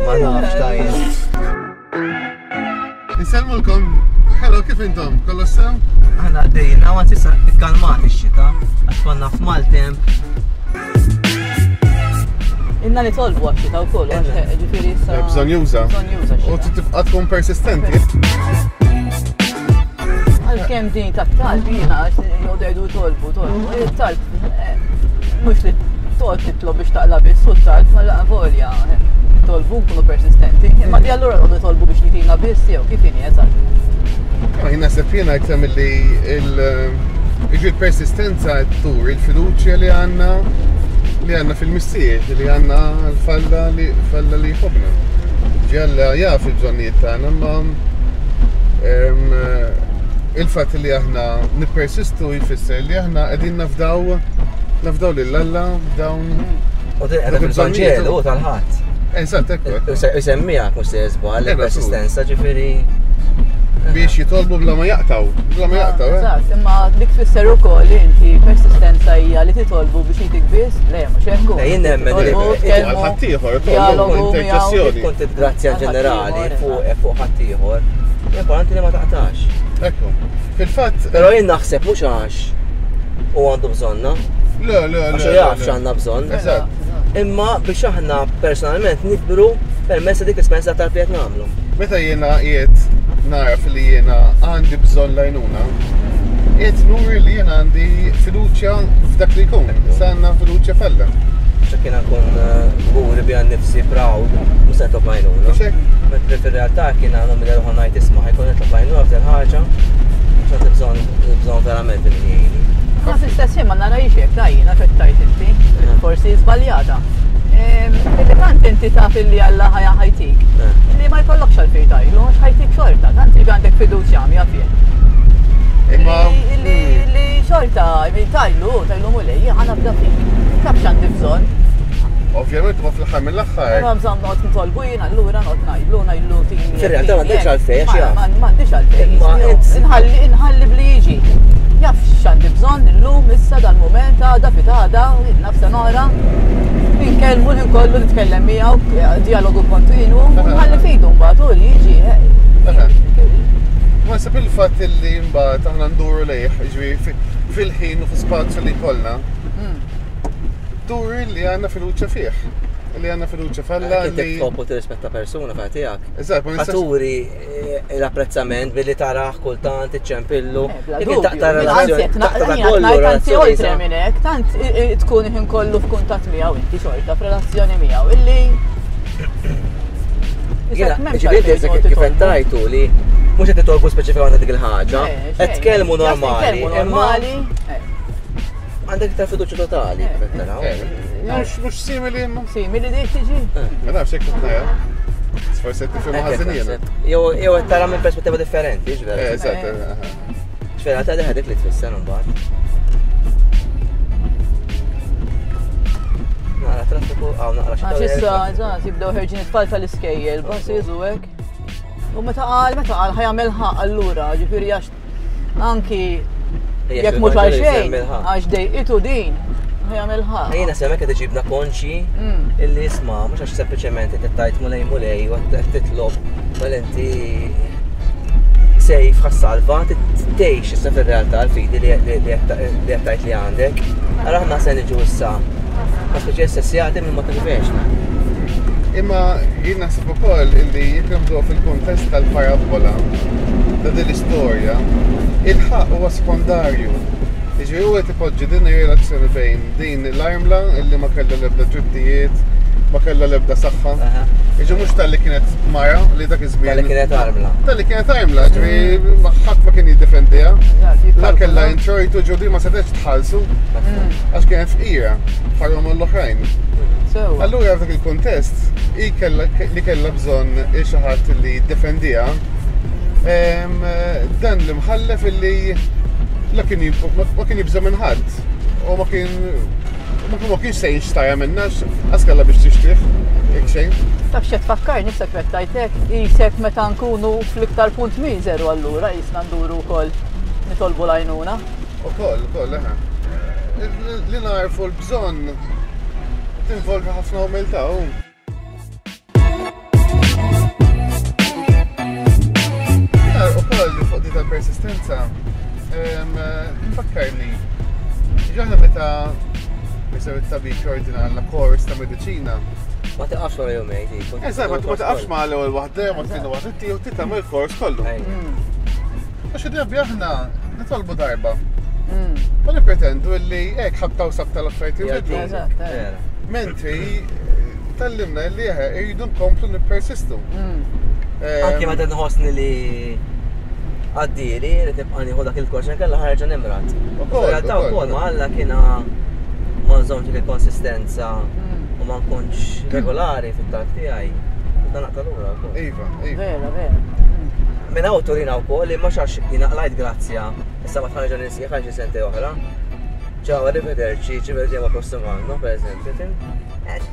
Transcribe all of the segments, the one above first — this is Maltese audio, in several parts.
Ma nafx tajjeb. Insellmulkom, hello kif intom? Kollox sew? Aħna għaddejjin, għaw għad issa ikkalmat ix-xita, għax konna f'maltemp. Inna nitolbu għax-xita wkoll, għax ġifieri issa. Bżonn juża. Bżonn juża U tibqa' tkun persistenti. Għalkemm din tat-talb jiena għax jgħodu jgħidu tolbu, tolbu. Il-talb eh, mhux li toqgħod titlob biex taqla biss u t-talb ma laqa volja. Eh, tolbu nkunu persistenti. Imma di allura noqogħdu tolbu biex jitina biss jew kif inhi eżatt. Ma jien naħseb jiena iktar milli il-persistenza tur il-fiduċja li għandna li għandna fil-missier, li għandna l-falla li falla li jħobna. Ġalla jaf il-bżonnijiet tagħna, imma il-fatt li aħna nippersistu jfisser li aħna qegħdin nafdaw nafdaw lil Alla dawn. U din qiegħda fil-Vanġelu tal-ħadd. Eżatt, ekku. Isemmija mhux se żball il-persistenza ġifieri. Biex jitolbu bla ma jaqtaw, bla ma jaqtaw. Eh? Eżatt, imma dik tfisser ukoll li inti persistenza hija li titolbu biex jitik biss, le mhux hekk. Le jien nemmen li ħaddieħor, interċessjoni. Kont grazzja ġenerali fuq fuq ħaddieħor. Importanti li ma taqtax. Ekku. Fil-fatt. Però jien naħseb mhux għax u għandu bżonna. Le, le, le. Għax jaf x'għandna bżonn. Eżatt. Imma biex aħna personalment nikbru permezz ta' dik l-esperjenza ta' li qed nagħmlu. Meta jiena qiegħed naraf li jiena għandi bżonn l-għajnuna, qiegħed nuri li jiena għandi fiduċja f'dak li jkun. Issa għandna fiduċja f'Alla. Għax jiena nkun kburi bija nnifsi proud, mhux se nitlob l-għajnuna. Mhux hekk? Mentri fir-realtà kien għandhom milli ruħu ngħid isma' ħajkun nitlob l-għajnuna f'din ħaġa, għax għandi bżonn bżonn verament li min jgħinni. Ma fl-istess ħin ma narajx hekk ta' jiena x'qed tgħid inti, forsi żbaljata. Illi tant inti taf illi Alla ħa ħajtik, li ma jkollokx għalfejn tgħidlu għax ħajtik xorta, tant li għandek fiduċja għamja fih. Imma Li li xorta, tajlu, tajlu mulej, ħa nafda fik. Taf x'għandi bżonn. Ovvjament ma fl-aħħar mill-aħħar. Ma bżonn noqgħod nitolbu jien allura noqgħod ngħidlu ngħidlu tini. Fir-realtà m'għandekx għalfejn għax jaf. M'għandix għalfejn. Inħalli inħalli bli jiġi. Jaf x'għandi bżonn illum issa dal-mument għada fit-għada, naf sena oħra. Inkellmu l kollu nitkellem miegħu, dialogu kontinu, nħalli fidu mbagħad u li jiġi. Ma sab il-fatt li mbagħad aħna nduru lejh, ġifieri fil-ħin u fl-spazju li jkollna. Hmm. Turi li għandna fiduċja fih. Li għandna fiduċja f'Alla. Li tħobb u tirrispetta persuna fa' tiegħek. Eżatt, ma nistax. Turi eh, l-apprezzament billi taraħ kultant iċċempillu. Eh, taqta' relazzjoni. Taqta' oltre minn hekk, tant tkun ħin kollu f'kuntatt miegħu inti xorta f'relazzjoni miegħu illi Ġifieri kif qed tajtu li mhux qed titolbu speċifikament dik il-ħaġa, qed tkellmu normali. Normali. Għandek iktar fiduċja totali kif qed taraw. Mhux mhux simili imma. Simili dik tiġi? Ma nafx hekk qed ngħid. Forsi qed tifhem ħażin jiena. Jew jew qed tara minn perspettiva differenti, ġvera. Eżatt. Ġvera ta' dik li tfisser imbagħad. Naqra traffiku, għaw naqra xi. Għax issa, eżatt, jibdew ħerġin it-tfal tal-iskejjel, buses u hekk. U meta qal, meta qal ħajamel ħaq allura, ġifieri għax anki jekk mhux għal xejn, għax dejqitu din, ħajamel ħaq. Ejna semmek qed iġibna konxi mm. illi isma' mhux għax sempliċement qed tgħid mulej mulej u qed titlob mal inti sejf ħassalva tgħix issa fir-realtà l-fidi li qed tgħid li għandek. Ara aħna se niġu issa ma speċi essessjati minn ma tirvex. Imma jien naħseb ukoll illi jekk naħduha fil-kuntest tal-parabbola ta' din l-istorja, il-ħaqq huwa sekondarju. Jiġifieri hu qed ipoġġi din ir-relazzjoni bejn din l-armla illi ma kellha l-ebda drittijiet, ma kellha l-ebda saħħa. Jiġifieri mhux talli kienet mara li dak iż-żmien. Talli kienet armla. Talli kienet armla, ġifieri ħadd ma kien jiddefendiha. La kellha introjtu ġudi ma setgħetx tħallsu għax kienet fqira bħalhom l-oħrajn. Allura f'dak il-kuntest, hi li kellha bżonn xi ħadd li jiddefendiha, dan l-imħallef illi la kien ma kien jibża' minn ħadd u ma kien ma kienx se jixtarha minnha għax kellha biex tixtrih jekk xejn. Taf x'qed tfakkarni issa kif qed tgħid hekk, qisek meta nkunu fl-iktar punt miżeru allura qisna nduru wkoll nitolbu l-għajnuna. Ukoll, ukoll, eħe. Li narfu l-bżonn. Tinvolvi ħafna umiltà u. Ukoll li fuq di tal-persistenza, tfakkarni, ġaħna meta jisew it-tabib jordina għandna kors ta' mediċina. Ma tiqafx wara jumejn, tipo. Eżatt, ma tiqafx ma l-ewwel waħda, ma tieni waħda, tieħu tagħmel kors kollu. Għax id-drabi aħna nitolbu darba. Ma nippretendu li hekk ħabta u sabta l-affarijiet jinbidlu. Mentri tallimna li eħe irridu nkomplu nippersistu. Anki meta nħossni li għaddili li tibqa' nieħu dak il-kors inkella ħarġa nimrat. Realtà wkoll ma Alla kiena ma nżommx dik il-konsistenza u ma nkunx regolari fit-talb tiegħi. Dan naqta' lura wkoll. Iva, iva. Vera, vera. Minn hawn turina wkoll li mhux għax jiena qlajt grazzja, issa ma tħarġa ninsieħ għal xi sentej oħra. Ciao, arrivederci, ci vediamo prossimo anno, per eżempju.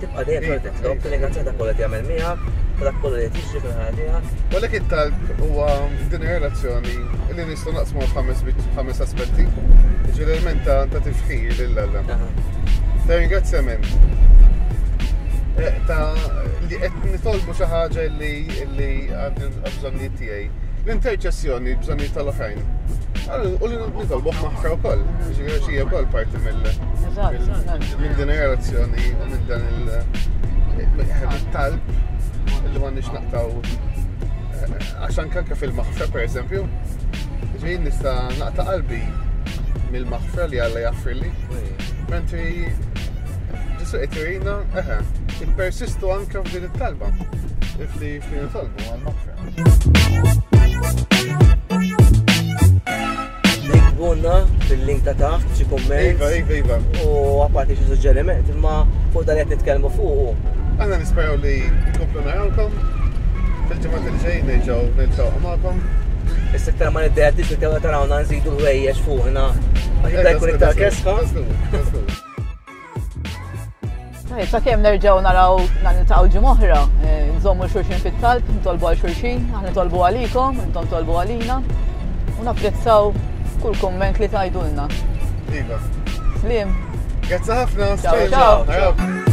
Tibqa' dejjem xorta titlob, tirringrazzjah dak kollu li jagħmel miegħek, ta' dak kollu li qed jiġri fil-ħajja tiegħek. U għalhekk it-talb huwa din ir-relazzjoni li nistgħu naqsmu f'ħames ħames aspetti. Jiġifieri l-element ta' ta' tifħir lil Alla. Ta' ringrazzjament. Eh, ta' li qed nitolbu xi ħaġa li li għandi bżonnijiet tiegħi. L-interċessjoni, bżonnijiet tal-oħrajn. U li nitolbuh maħfra wkoll. Ġifieri xi wkoll parti mill minn din ir-relazzjoni u minn dan il-talb li m'għandniex naqtaw għax anke anke fil-maħfra pereżempju. Ġifieri nista' naqta' qalbi mill-maħfra li Alla jaffrilli. Mentri Ġesu qed jurina, eħe, ippersistu anke f'din it-talba. Fli fli nitolbu għall-maħfra. Niktbulna fil-link ta' taħt xi kumment. Iva, iva, iva. U apparti xi suġġeriment, imma fuq dan qed nitkellmu fuq. Aħna nisperaw li nkomplu narawkom fil-ġimgħat li ġejjin nerġgħu niltaqgħu magħkom. Issa iktar ma niddeħtix li tarawna nżidu l-ħwejjeġ fuqna. Għax jibda jkun iktar kesħa. Tajjeb, sakemm nerġgħu naraw niltaqgħu ġimgħa oħra, eh, nżommu xulxin fit-talb, nitolbu għal xulxin, aħna nitolbu għalikom, intom tolbu għalina u napprezzaw kull kumment li tgħidulna. Iva. Slim. Grazzi ħafna. Ciao, ciao.